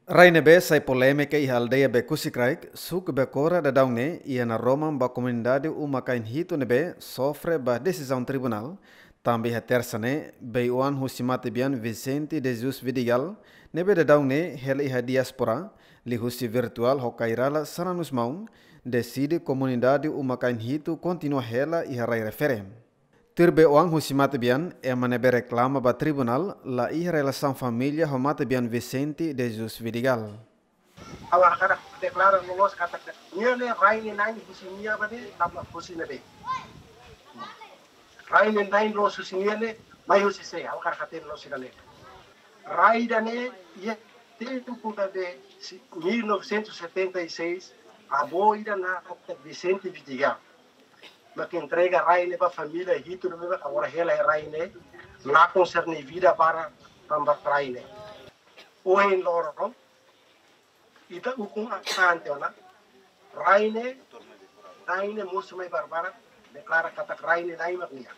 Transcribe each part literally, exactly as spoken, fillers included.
Rai ne'ebé sai polémika iha aldeia Bekusi Kraik, suku Bekora daudaun ne'e, iha naroman ba komunidade uma-kain hitu ne'ebé sofre ba desizaun tribunál, tanba iha tersa ne'e, bei-oan husi matebian Vicente de Jesus Vidigal, ne'ebé daudaun ne'e hela iha diáspora, liuhusi virtuál ho kairala sananus maun, deside komunidade uma-kain hitu kontinua hela iha rai refere. Tuir bei-oan husi matebian, ema ne'ebé reklama ba tribunál, la iha relasaun família ho matebian Vicente de Jesus Vidigal. Ha'u hakarak deklara loloos katak nia ne'e rai ne'e na'in husi nia ba ne'e, tanba husi ne'ebé. Rai ne'e na'in loos husi nia ne'e, mai husi sé, ha'u hakarak hatene loos ida-ne'e. Rai ida-ne'e, iha tempu ida-ne'e, si-, mil novecentos e setenta e seis, avó ida naran Vicente Vidigal mak entrega rai ne'e ba família hitu ne'ebé agora hela iha rai ne'e, lakon sira-nia vida barak tanba rai ne'e. Ohin loron, ita ukun an-, ante ona, rai ne'e, rai ne'e mosu mai barbarak, deklara katak rai ne'e na'in mak nia.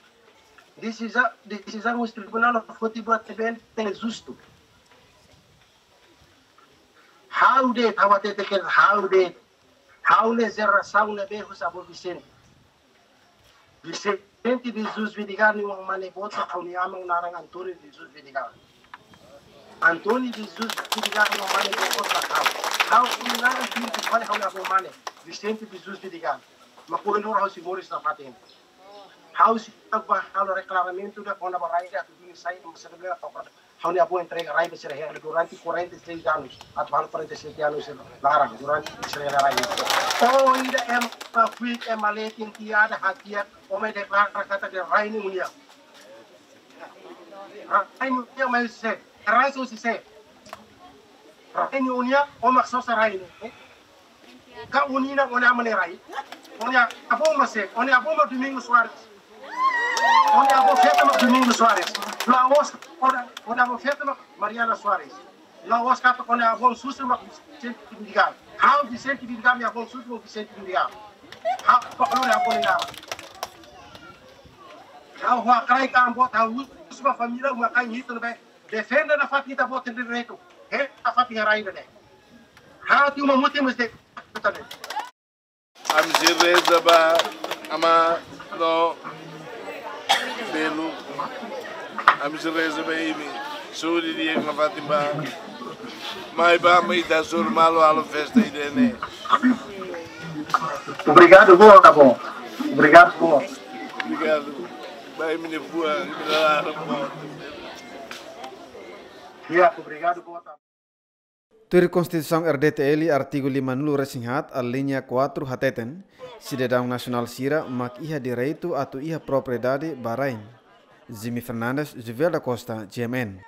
Desiza-, desizaun husi tribunál foti buat ne'ebé la justu. Ha'u de'it, ha'u hatete katak ha'u de'it, ha'u ne'e jerasaun ne'ebé husi avó Vicente. Vicente de Jesus Vidigal nia oan mane boot, ha'u-nia aman naran António de Jesus Vidigal. António de Jesus Vidigal nia oan mane boot, ha'u. Ha'u-nia naran Pinto, fali ha'u-nia avó mane, Vicente de Jesus Vidigal. Mak ohin loron ha'u sei moris nafatin. Ha'u sei ba halo reklamamentu ida kona-ba rai ida atu duni sai, mas sira bele toka. Ha'u-nia avó entrega rai ba sira hela durante quarenta e seis anos, atu halo quarenta e sete anos laran, durante sira hela rai. Oh, ida ema fuik, ema letin, tiada hatiak, ó mai deklara katak rai ne'e ó-nia. Rai ne'e ó-nia, mas sé, heransa husi sé. Rai ne'e ó-nia, ó mak sosa rai ne'e. Ka ó-nia, ó-nia aman nia rai. Ó-nia avó mak sé, ó-nia avó mak Domingos Soares. Ó-nia avó feto mak Domingos Soares. La'ós, ó-nia, ó-nia avó feto mak Mariana Soares. La'ós katak ó-nia avó susar mak Vicente Vidigal. Ha'u Vicente Vidigal, nia avó susar mak Vicente Vidigal. Ha'u hakarak halo nia avó nia naran. Ha'u hakarak an boot, ha'u husu ba família uma-kain hitu ne'ebé defende nafatin ita-boot nia direitu. Hela nafatin iha rai ida-ne'e. Ha'u tiha uma mutin mesti. Ami sei reza ba Aman no Belu. Ami sei reza ba imi. Saúde di'ak nafatin ba. Mai ba ami ita hasoru malu halo festa ida-ne'e. Obrigadu boot, avó. Obrigadu boot. Obrigadu. Ba imi-nia fuan, imi-nia laran boot. Ya, obrigadu boot. Tuir Konstituisaun R D T L, artigu lima-nulu-resin-haat, alínea quatro hateten, sidadaun nasionál sira mak iha direitu atu iha propriedade ba rai. Jimmy Fernandes, Juvel da Costa, G M N.